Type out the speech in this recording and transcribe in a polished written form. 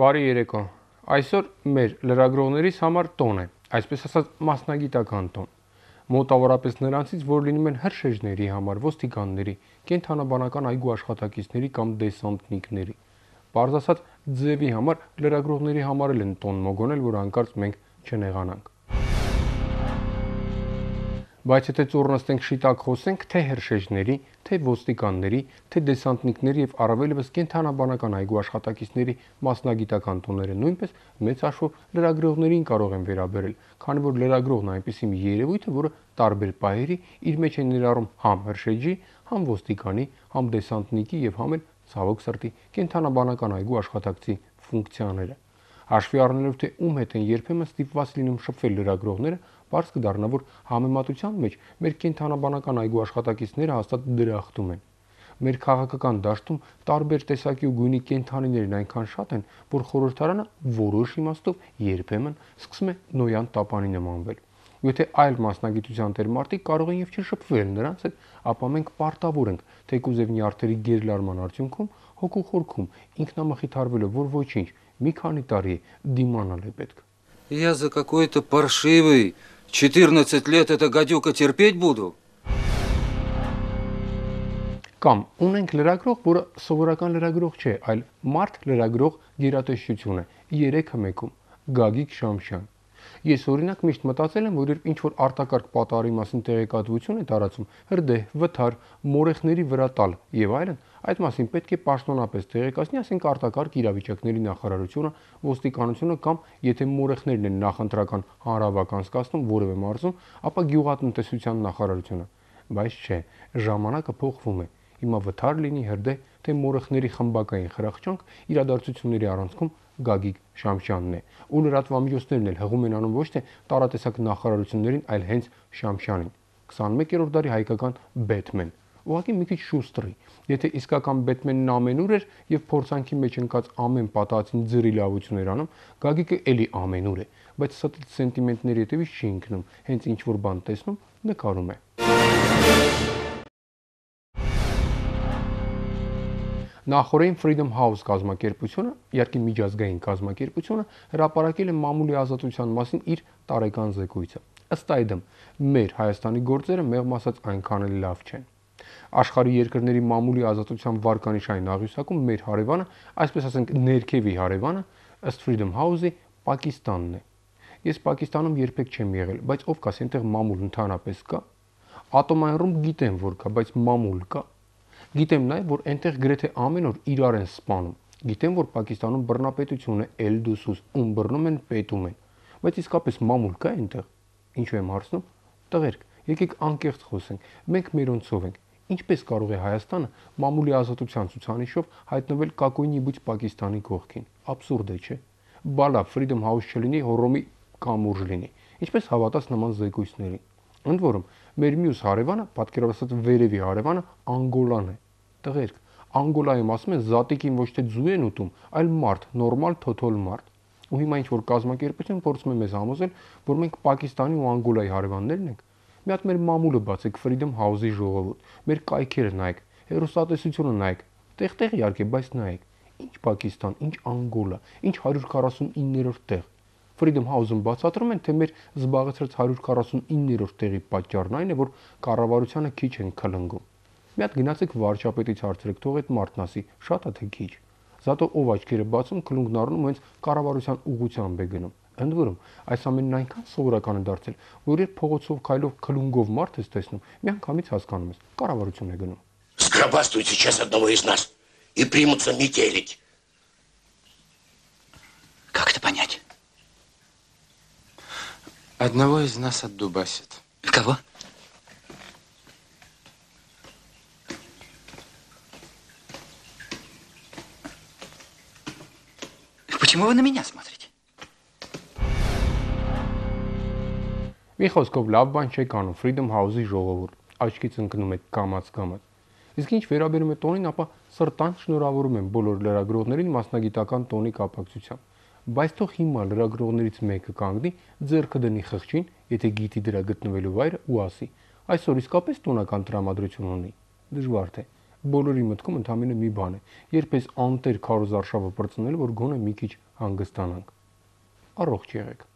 Բարի երեկո։ Այսօր մեր լրագրողներիս համար տոն է, այսպես ասած մասնագիտական տոն։ Մոտավորապես նրանցից, որ լինում են հրշեջների համար, ոստիկանների, կենթանաբանական այգու աշխատակիցների կամ դեսանտնիկների։ Պարզ ասած, ձևի համար լրագրողների համար էլ են տոն մոգոնել, որ հանկարծ մենք չնեղանանք։ Բայց եթե ծուռնստենք շիտակ խոսենք թե հրշեջների, թե ոստիկանների, թե դեսանտնիկների եւ առավելևս կենթանաբանական այգու աշխատակիցների մասնագիտական տոները նույնպես մեծ հաշվով լրագրողներին կարող են վերաբերել, քանի որ լրագրողն այնպիսի մի երևույթ է, որը տարբեր պահերի իր մեջ է ներառում համ հրշեջի, համ ոստիկանի, համ դեսանտնիկի եւ համ էլ ցավոք սրտի կենթանաբանական այգու աշխատակցի ֆունկցիաները։ Հաշվի առնելով թե ում հետ են երբեմն ստիպված լինում շփվել լրագրողները, բարձ կդառնա, որ համեմատության մեջ մեր կենթանաբանական այգու աշխատակիցները հաստատ դրախտում են։ Մեր քաղաքական դաշտում տարբեր տեսակի ու գույնի կենթանիներն այնքան շատ են, որ խորհրդարանը որոշ իմաստով երբեմն սկսում է նոյան տապանի նմանվել։ Ու եթե այլ մասնագիտության տեր մարդիկ կարող են եւ չշփվել նրանց հետ, ապա մենք պարտավոր ենք թեկուզ եւ նյարդերի գերլարման արդյունքում հոգու խորքում ինքնամխիթարվելով, որ ոչինչ, մի քանի տարի դիմանալ է պետք։ Я за какой-то паршивый 14 лет это гадюка терпеть буду. Կամ ունենք լրագրող, որը սովորական լրագրող չէ, այլ մարդ լրագրող գերատեսչություն է, 3-ը մեկում, Գագիկ Շամշյան։ Ես օրինակ միշտ մտածել եմ, որ երբ ինչ-որ արտակարգ պատահարի մասին տեղեկատվություն է տարածում, հրդեհ, վթար, մորեխների վրա տալ եւ այլն, այդ մասին պետք է պաշտոնապես տեղեկացնի, ասենք արտակարգ իրավիճակների նախարարությունը, ոստիկանությունը կամ եթե մորեխներն են նախընտրական հանրավակ անցկացնում որևէ մարզում, ապա գյուղատնտեսության նախարարությունը։ Բայց չէ, ժամանակը փոխվում է։ Հիմա վթար լինի հրդեհ, թե մորեխների խմբակային խրախճանք, իրադարձությունների առանցքում Գագիկ Շամշյանն է, ու լրատվամիջոցներն էլ հղում են անում ոչ թե տարատեսակ նախարարություններին, այլ հենց Շամշյանին։ 21-րդ դարի հայկական Բեթմեն։ Ուղղակի մի քիչ շուստրի։ Եթե իսկական Բեթմենն ամենուր էր եւ փորձանքի մեջ ընկած ամեն պատահածին ձրի լավություն էր անում, Գագիկը էլի ամենուր է, բայց ստի սենտիմենտների հետևից չի ընկնում, հենց ինչ որ բան տեսնում, նկարում է։ Նախորդին Freedom House կազմակերպությունը, իհարկե միջազգային կազմակերպությունը, հրապարակել է մամուլի ազատության մասին իր տարեկան զեկույցը։ Ըստ այդմ, մեր Հայաստանի գործերը մեղմ ասած այնքան էլ լավ չեն։ Աշխարհի երկրների մամուլի ազատության վարկանիշային աղյուսակում մեր հարևանը, այսպես ասենք ներքևի հարևանը, ըստ Freedom House-ի Պակիստանն է։ Ես Պակիստանում երբեք չեմ եղել, բայց ով կասի այնտեղ մամուլ ընդհանրապես կա։ Ատոմային ռումբ գիտեմ, որ կա, բայց մամուլ կա։ Գիտեմ նաև, որ այնտեղ գրեթե ամեն օր իրար են սպանում։ Գիտեմ, որ Պակիստանում բռնապետություն է, Էլդուսուս, ում բռնում են, պետում են։ Բայց իսկապես մամուլ կա այնտեղ։ Ինչու եմ հարցնում։ Տղերք, եկեք անկեղծ խոսենք։ Մենք մերոնցով ենք։ Ինչպես կարող է Հայաստանը մամուլի ազատության ցուցանիշով հայտնվել կակոյնի բույց Պակիստանի կողքին։ Աբսուրդ է, չէ՞։ Բալա Freedom House չլինի, հոռոմի կամուրջ լինի։ Ինչպես հավատաց նման զեկույցներին։ Ընդ որում, մեր մյուս հարևանը, պատկերացրած վերևի հարևանը, Անգոլան է։ Տղերք, Անգոլայում ասում են զատիկին ոչ թե ձու են ուտում, այլ մարդ, նորմալ թոթոլ մարդ։ Ու հիմա ինչ-որ կազմակերպություն փորձում է մեզ համոզել, որ մենք Պակիստանի ու Անգոլայի հարևաններն ենք։ Մի հատ մեր մամուլը բացեք Freedom House-ի ժողովուրդ, մեր կայքերը նայեք, հեռուստատեսությունը նայեք, տեղ-տեղ իհարկե, բայց նայեք։ Ինչ Պակիստան, ինչ Անգոլա, ինչ 149-րդ տեղ։ Freedom House-ում բացատրում են, թե մեր զբաղեցրած 149-րդ տեղի պատճառն այն է, որ կառավարությանը քիչ են քլնգում։ Մի հատ գնացեք վարչապետից հարցրեք, թող այդ մարդն ասի, շատ է թե քիչ։ Զատո ով աչքերը բացում, քլունգն առնում հենց կառավարության ուղղությամբ է гնում։ Ընդ որում, այս амենն այնքան սովորական է դարձել, որ երբ փողոցով քայլող քլունգով մարդ ես տեսնում, միանգամից հասկանում ես, կառավարություն է գնում։ Сгробастают сейчас одного из нас и примутся метелить. Как это понять? Одного из нас отдубасит. Кого? Почему вы на меня смотрите? Մի խոսքով լավ բան չեք անում Freedom House-ի ժողովուրդ, աչքից ընկնում եք կամաց-կամաց։ Իսկ ինչ վերաբերում է տոնին, ապա սրտան շնորհավորում եմ բոլոր լրագրողներին մասնագիտական տոնի կապակցությամբ։ Բայց թող հիմա լրագրողներից մեկը կանգնի, ձեռքը դնի խղճին, եթե գիտի դրա գտնվելու վայրը ու ասի. այսօր իսկապես տոնական տրամադրություն ունի։ Դժվար թե։ բոլորի մտքում ընդամենը մի բան է՝ երբ էս անտեր քարոզարշավը պրծնել, որ գոնե մի քիչ հանգստանանք։ Առողջ եղեք։